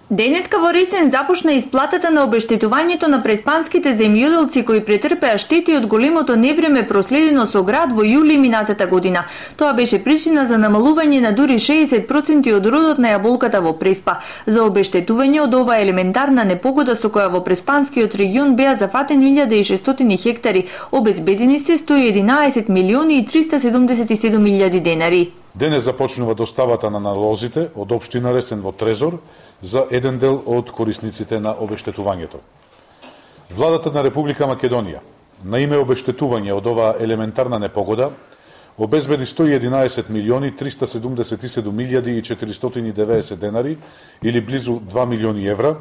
Денеска во Ресен започна исплатата на обештетувањето на преспанските земјоделци кои претрпеа штети од големото невреме проследено со град во јули минатата година. Тоа беше причина за намалување на дури 60% од родот на јаболката во Преспа. За обештетување од оваа елементарна непогода со која во Преспанскиот регион беа зафатени 1600 хектари, обезбедени се 111 милиони и 377 илјади денари. Денес започнува доставата на налозите од општина Ресен во Трезор за еден дел од корисниците на обештетувањето. Владата на Република Македонија на име обештетување од оваа елементарна непогода обезбеди 111 милиони 377 илјади и 490 денари или близу 2 милиони евра,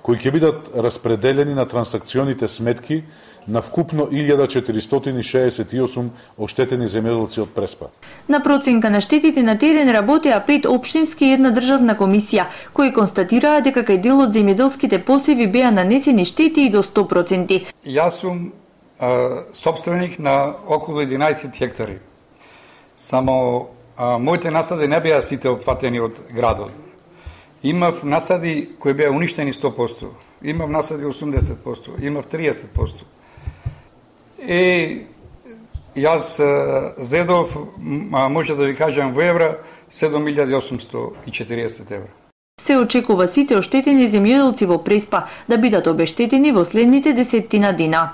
кои ќе бидат распределени на трансакционите сметки на вкупно 1468 оштетени земјоделци од Преспа. На проценка на штетите на терен работеа 5 општински и една државна комисија, кои констатираа дека кај дел од земјоделските посеви беа нанесени штети и до 100%. Јас сум сопственик на околу 11 хектари. Само моите насади не беа сите опфатени од градот. Имав насади кои беа уништени 100%, имав насади 80%, имав 30%. Јас зедов, може да ви кажам во евра, 7840 евра. Се очекува сите оштетени земјоделци во Преспа да бидат обештетени во следните 10 дена.